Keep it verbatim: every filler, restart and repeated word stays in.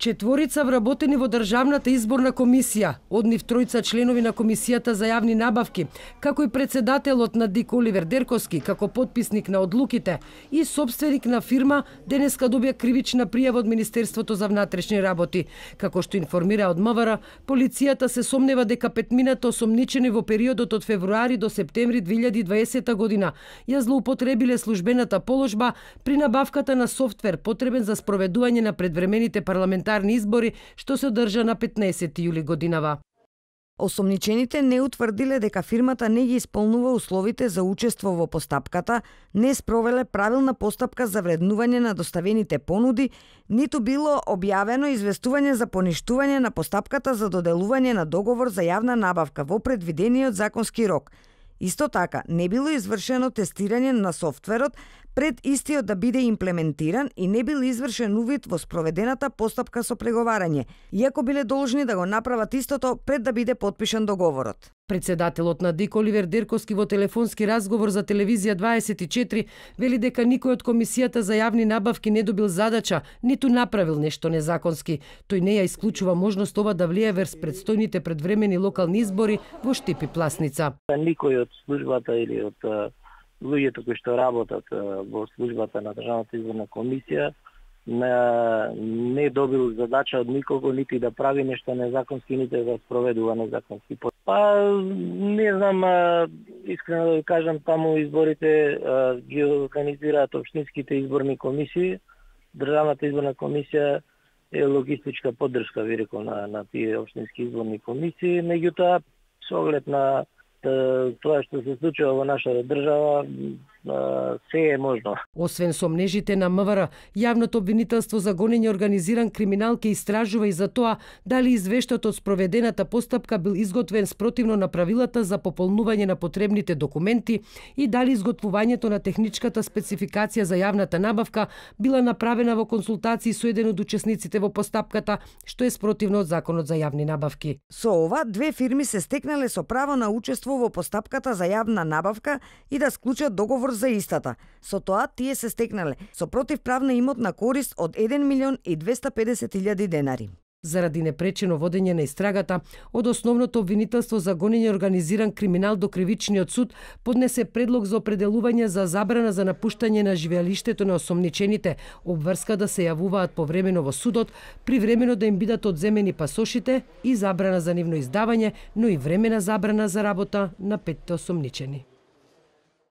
Четворица вработени во Државната изборна комисија, од нив тројца членови на комисијата за јавни набавки, како и председателот на ДИК Оливер Дерковски, како потписник на одлуките и собственик на фирма, денеска добија кривична пријава од Министерството за внатрешни работи. Како што информира од МВР, полицијата се сомнева дека петмината осомничени во периодот од февруари до септември две илјади и дваесета година ја злоупотребиле службената положба при набавката на софтвер потребен за спроведување на предвремените парламентарни избори, што се одржа на петнаесети јули годинава. Осомничените не утврдиле дека фирмата не ги исполнува условите за учество во постапката, не спровеле правилна постапка за вреднување на доставените понуди, ниту било објавено известување за поништување на постапката за доделување на договор за јавна набавка во предвидениот законски рок. Исто така, не било извршено тестирање на софтверот пред истиот да биде имплементиран и не бил извршен увид во спроведената постапка со преговарање, иако биле должни да го направат истото пред да биде потпишан договорот. Председателот на ДИК Оливер Дерковски во телефонски разговор за телевизија дваесет и четири вели дека никој од комисијата за јавни набавки не добил задача, ниту направил нешто незаконски. Тој не ја исклучува можност ова да влие врз предстојните предвремени локални избори во Штип и Пласница. Никој од службата или од луѓето кои што работат во службата на Државната изборна комисија не добил задача од никого нити да прави нешто незаконски, нити да спроведува незаконски. Па не знам, искрено да ви кажам, таму изборите ги организираат општинските изборни комисии. Државната изборна комисија е логистичка поддршка, ви рекол, на, на тие општински изборни комисии. Меѓутоа, со оглед на тоа што се случува во нашата држава, се е можно. Освен сомнежите на МВР, јавното обвинителство за гонење организиран криминал ќе истражува и за тоа дали извештајот од спроведената постапка бил изготвен спротивно на правилата за пополнување на потребните документи и дали изготвувањето на техничката спецификација за јавната набавка била направена во консултации со еден од учесниците во постапката, што е спротивно од Законот за јавни набавки. Со ова, две фирми се стекнале со право на учество во постапката за јавна набавка и да склучат договор за истата. Со тоа тие се стекнале со противправна имотна корист од еден милион и двесте и педесет илјади денари. Заради непречено водење на истрагата, од основното обвинителство за гонење организиран криминал до кривичниот суд поднесе предлог за определување за забрана за напуштање на живеалиштето на осомничените, обврска да се јавуваат повремено во судот, привремено да им бидат одземени пасошите и забрана за нивно издавање, но и времена забрана за работа на петте осомничени.